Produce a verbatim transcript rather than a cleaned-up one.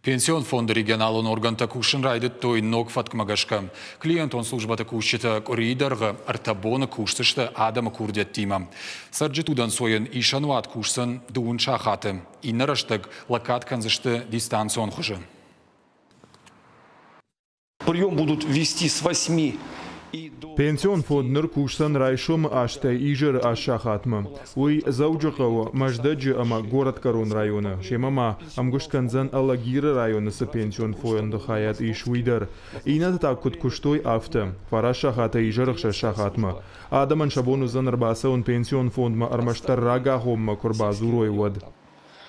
Пенсион фонды регионалон органтӕ кусын райдыдтой ног фӕткмӕ гӕсгӕ. Клиентон службӕты кусджытӕ къуырийы дӕргъы ӕртӕ боны кусдзысты адӕмы курдиӕттимӕ. Цӕрджыты удӕнцойӕн исӕнуат кусдзӕн дыууын сахаты. Иннӕ рӕстӕг лӕггад кӕндзысты дистанцион хуызы. Прием будут вести с восьми. Пенсион фонд ныр кусдзӕн райсомы астӕй изӕры аст сахатмӕ. Уый Дзӕуджыхъӕуы, Мӕздӕджы ӕмӕ Горӕтгӕрон районы. Семӕ ма ӕмгуыст кӕндзӕн Алагиры районы цы пенсион фонды хайад ис, уый дӕр. Иннӕтӕ та куыд куыстой, афтӕ. Фараст сахатӕй изӕры ӕхсӕз сахатмӕ. Адӕмӕн сӕ бон уыдзӕн ӕрбацӕуын пенсион фондмӕ ӕрмӕстдӕр рагагъоммӕ куы ӕрбадзурой, уӕд.